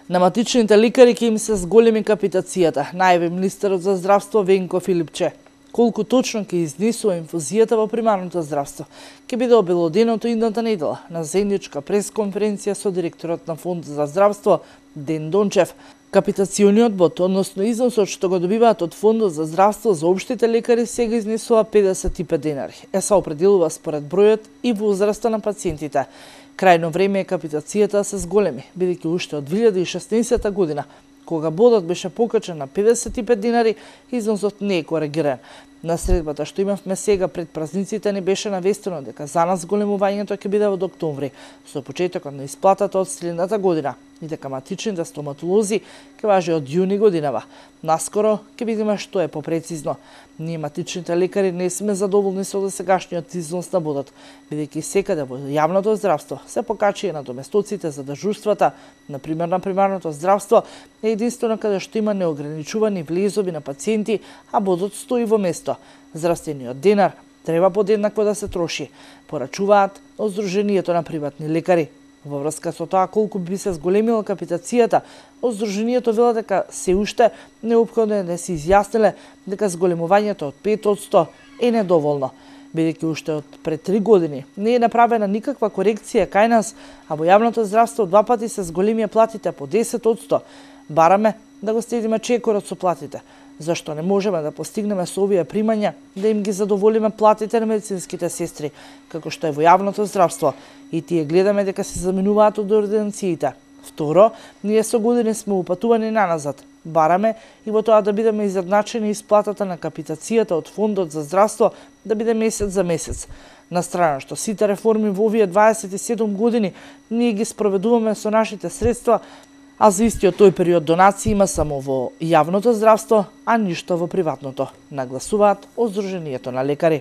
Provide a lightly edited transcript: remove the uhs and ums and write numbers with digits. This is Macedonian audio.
На матичните лекари ќе им се зголеми капитацијата, најави министерот за здравство Венко Филипче. Колку точно ќе изнесува инфузијата во примарното здравство, ќе биде обелоденото идната недела на заедничка пресконференција со директорот на Фонд за здравство Ден Дончев. Капитациониот бод, односно износот што го добиваат од Фондот за здравство за општите лекари, сега изнесува 55 денари. Се определува според бројот и возраста на пациентите. Крајно време е капитацијата да се зголеми, бидејќи уште од 2016 година, кога бодот беше покачен на 55 денари, износот не е коригиран. На средбата што имавме сега пред празниците не беше навестено дека за нас зголемувањето ќе биде од октомври, со почетокот на исплатата од следната година, и дека матичните стоматолози ќе важи од јуни годинава. Наскоро ќе видиме што е попрецизно. Ние матичните лекари не сме задоволни со досегашниот износ на бодот, бидејќи секаде во јавното здравство се покачија на доместоците за дежурствата, например на примарното здравство, е единствено каде што има неограничувани влезови на пациенти, а бодот стои во место. Здравствениот денар треба подеднакво да се троши, порачуваат од Сдруженијето на приватни лекари. Во врска со тоа колку би се зголемила капитацијата, од Сдруженијето вела дека се уште неопходно е да се изјасниле дека зголемувањето од 5% е недоволно, бидејќи уште од пред 3 години не е направена никаква корекција кај нас, а во јавното здравство 2 пати се зголемија платите по 10%. Бараме да го следиме чекорот со платите. Зашто не можеме да постигнеме со овие примања да им ги задоволиме платите на медицинските сестри, како што е во јавното здравство, и тие гледаме дека се заменуваат од ординациите. Второ, ние со години сме упатувани наназад. Бараме и во тоа да бидеме изедначени исплатата на капитацијата од Фондот за здравство да биде месец за месец. На страна што сите реформи во овие 27 години ние ги спроведуваме со нашите средства, а за истиот тој период донации има само во јавното здравство, а ништо во приватното, нагласуваат од Сдруженијето на лекари.